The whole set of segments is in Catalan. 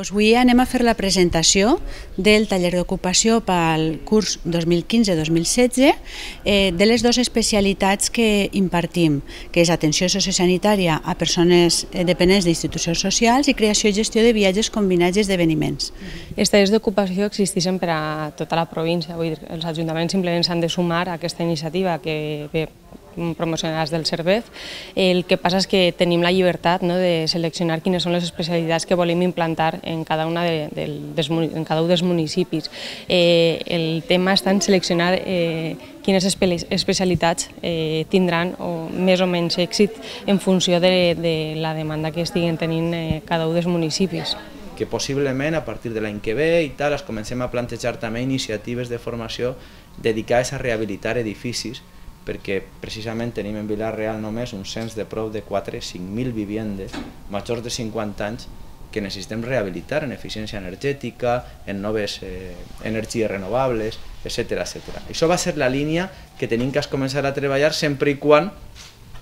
Avui anem a fer la presentació del taller d'ocupació pel curs 2015-2016 de les dues especialitats que impartim, que és atenció sociosanitària a persones dependents d'institucions socials i creació i gestió de viatges combinats i esdeveniments. Els tallers d'ocupació existeixen per a tota la província, vull dir, els ajuntaments simplement s'han de sumar a aquesta iniciativa que ve promocionades del CERVEF. El que passa és que tenim la llibertat de seleccionar quines són les especialitats que volem implantar en cada un dels municipis. El tema està en seleccionar quines especialitats tindran més o menys èxit en funció de la demanda que estiguen tenint cada un dels municipis. Que possiblement a partir de l'any que ve i tal es comencem a plantejar també iniciatives de formació dedicades a rehabilitar edificis, perquè precisament tenim en Vila-real només un cens de prop de 4.000-5.000 vivendes majors de 50 anys que necessitem rehabilitar en eficiència energètica, en noves energies renovables, etc. Això va ser la línia que tenim que començar a treballar sempre i quan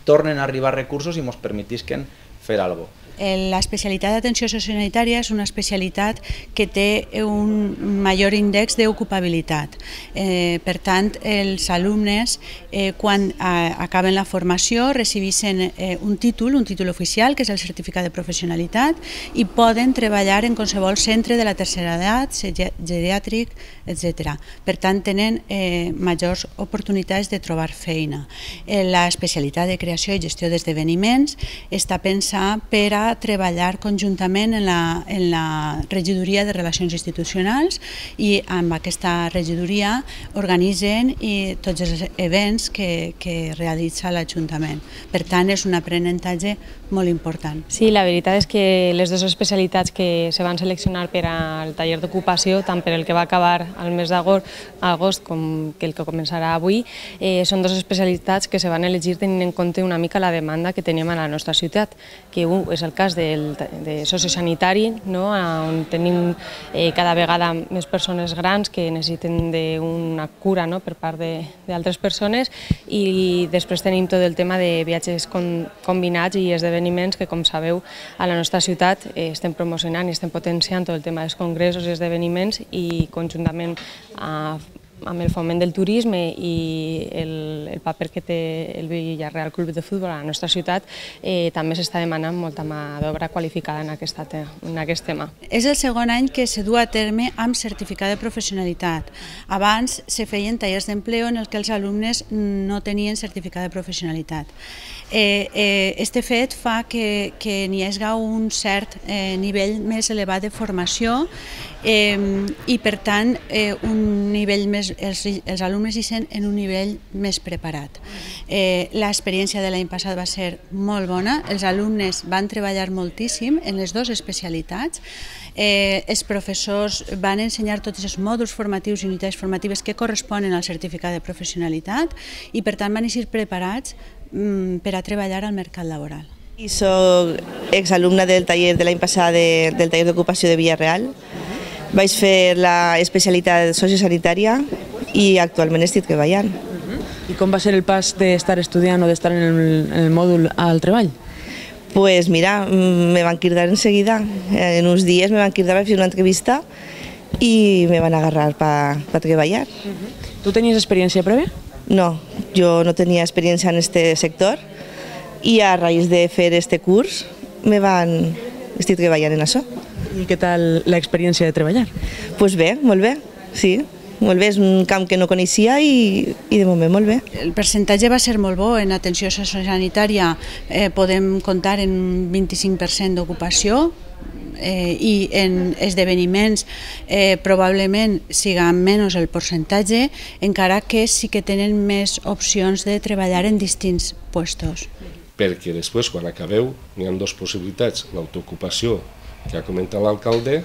tornen a arribar recursos i ens permetisquen fer alguna cosa. L'especialitat d'atenció sociosanitària és una especialitat que té un major índex d'ocupabilitat. Per tant, els alumnes, quan acaben la formació, recibeixen un títol oficial, que és el certificat de professionalitat, i poden treballar en qualsevol centre de la tercera edat, geriàtric, etc. Per tant, tenen majors oportunitats de trobar feina. L'especialitat de creació i gestió d'esdeveniments està pensada per a treballar conjuntament en la regidoria de Relacions Institucionals i amb aquesta regidoria organitzen tots els events que realitza l'Ajuntament. Per tant, és un aprenentatge molt important. Sí, la veritat és que les dues especialitats que se van seleccionar per al taller d'ocupació, tant per el que va acabar al mes d'agost com el que començarà avui, són dues especialitats que se van elegir tenint en compte una mica la demanda que teníem a la nostra ciutat, que és el cas de sociosanitari, on tenim cada vegada més persones grans que necessiten d'una cura per part d'altres persones, i després tenim tot el tema de viatges combinats i esdeveniments que, com sabeu, a la nostra ciutat estem promocionant i estem potenciant tot el tema dels congressos i esdeveniments, i conjuntament amb el foment del turisme i el paper que té el Villarreal Club de Futbol a la nostra ciutat, també s'està demanant molta mà d'obra qualificada en aquest tema. És el segon any que se du a terme amb certificat de professionalitat. Abans se feien tallers d'empleo en els que els alumnes no tenien certificat de professionalitat. Este fet fa que n'hi hagi un cert nivell més elevat de formació i, per tant, els alumnes hi sent en un nivell més preparat. L'experiència de l'any passat va ser molt bona, els alumnes van treballar moltíssim en les dues especialitats, els professors van ensenyar tots els mòduls formatius i unitats formatives que corresponen al certificat de professionalitat i, per tant, van ser preparats per a treballar al mercat laboral. Soc exalumna del taller de l'any passat del taller d'ocupació de Villarreal. Vaig fer l'especialitat sociosanitària i actualment estic treballant. I com va ser el pas d'estar estudiant o d'estar en el mòdul al treball? Pues mira, me van cridar enseguida. En uns dies me van cridar per fer una entrevista i me van agarrar per treballar. Tu tenies experiència prèvia? No, jo no tenia experiència en aquest sector i a raïs de fer aquest curs estic treballant en això. I què tal l'experiència de treballar? Doncs bé, molt bé, sí. Molt bé, és un camp que no coneixia i de moment molt bé. El percentatge va ser molt bo. En atenció sociosanitària podem comptar en un 25% d'ocupació i en esdeveniments probablement siga menys el percentatge, encara que sí que tenen més opcions de treballar en distints puestos. Perquè després, quan acabeu, hi ha dues possibilitats, l'autoocupació, que ha comentat l'alcalde,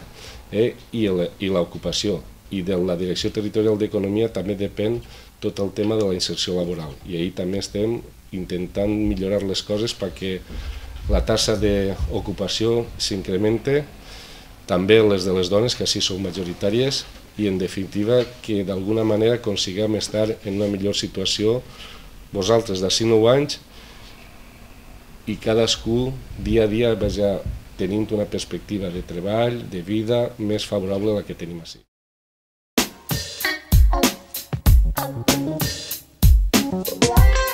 i l'ocupació. I de la Direcció Territorial d'Economia també depèn tot el tema de la inserció laboral. I ahir també estem intentant millorar les coses perquè la taxa d'ocupació s'incremente, també les de les dones, que així són majoritàries, i en definitiva que d'alguna manera aconseguim estar en una millor situació vosaltres d'ací 9 anys i cadascú dia a dia vagi tenint una perspectiva de treball, de vida més favorable a la que tenim ací. Wow.